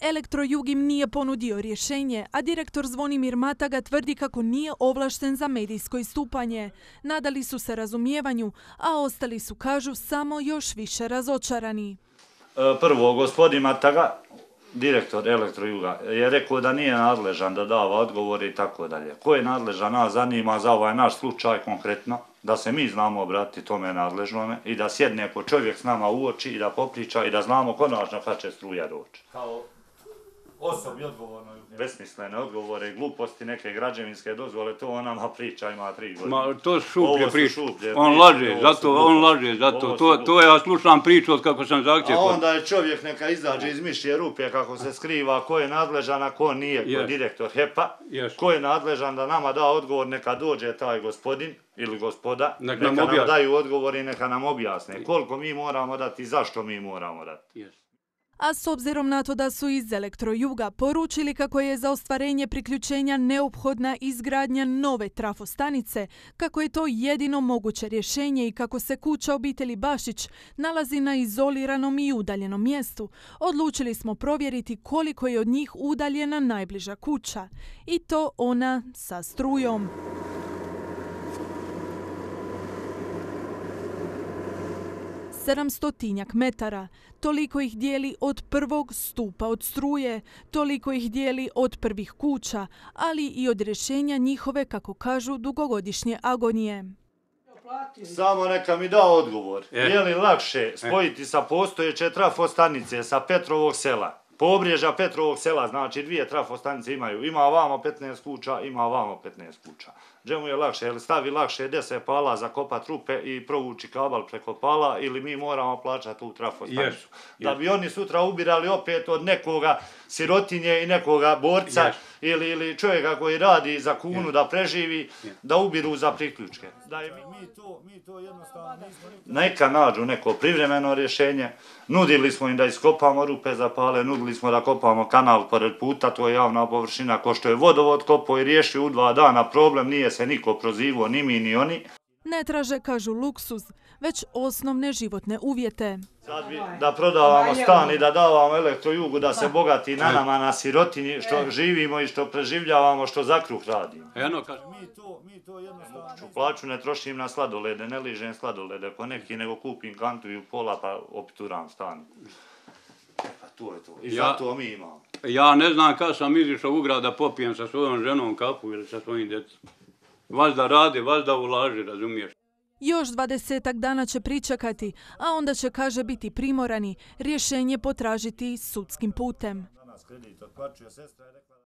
Elektrojug im nije ponudio rješenje, a direktor Zvonimir Mataga tvrdi kako nije ovlašten za medijsko istupanje. Nadali su se razumijevanju, a ostali su, kažu, samo još više razočarani. Prvo, gospodin Mataga, direktor Elektrojuga, je rekao da nije nadležan da dava odgovore i tako dalje. Ko je nadležan, nas zanima za ovaj naš slučaj konkretno, da se mi znamo obratiti tome nadležnome i da sjedne ko čovjek s nama u oči i da popriča i da znamo konačno kad će struja doći. Kao osobi odgovorno, besmislene odgovore, gluposti, neke građevinske dozvole, to on nama priča, ima 3 godine. Ma, to su šuplje priče. On laže, zato. To ja slušam priču od kako sam zahtjev. A onda je čovjek neka izađe iz mišje rupe kako se skriva, ko je nadležan, a ko nije, ko je direktor HEP-a, ko je nadležan da nama da odgovor, neka dođe taj gospodin ili gospoda, neka nam daju odgovor i neka nam objasne koliko mi moramo dati i zašto mi moramo dati. A s obzirom na to da su iz Elektrojuga poručili kako je za ostvarenje priključenja neophodna izgradnja nove trafostanice, kako je to jedino moguće rješenje i kako se kuća obitelji Bašić nalazi na izoliranom i udaljenom mjestu, odlučili smo provjeriti koliko je od njih udaljena najbliža kuća. I to ona sa strujom. Sedamstotinjak metara, toliko ih dijeli od prvog stupa od struje, toliko ih dijeli od prvih kuća, ali i od rješenja njihove, kako kažu, dugogodišnje agonije. Samo neka mi da odgovor. Je li lakše spojiti sa postojeće trafostanice sa Petrovog sela? Pobrježa Petrovog sela, znači 2 trafostanice imaju. Ima ovamo 15 kuća, ima ovamo 15 kuća. Gdje mu je lakše? Je li stavi lakše 10 pala za kopat rupe i provući kabel preko pala ili mi moramo plaćati tu trafostanicu? Da bi oni sutra ubirali opet od nekoga sirotinje i nekoga borca ili čovjeka koji radi za kunu da preživi, da ubiru za priključke. Mi to jednostavno nismo... Neka nađu neko privremeno rješenje. Nudili smo im da iskopamo rupe za pale, nudili smo da kopamo kanal pored puta, to je javna površina, ko što je vodovod kopao i riješio u 2 dana problem, nije se niko prozivao, ni mi ni oni. Ne traže, kažu, luksuz, već osnovne životne uvjete. Sad bi da prodavamo stan i da davamo Elektrojugu, da se bogati na nama, na sirotinji, što živimo i što preživljavamo, što za kruh radimo. Mi to jednostavno... Plaću ne trošim na sladolede, ne ližem sladolede po neki, nego kupim kantu i u pola pa opturam stan. Pa to je to. I zato mi imamo. Ja ne znam kad sam izišao u grad da popijem sa svojom ženom kafu ili sa svojim djecom. Valjda radi, valjda ulaži, razumiješ? Još 20-ak dana će pričekati, a onda će, kaže, biti primorani rješenje potražiti sudskim putem.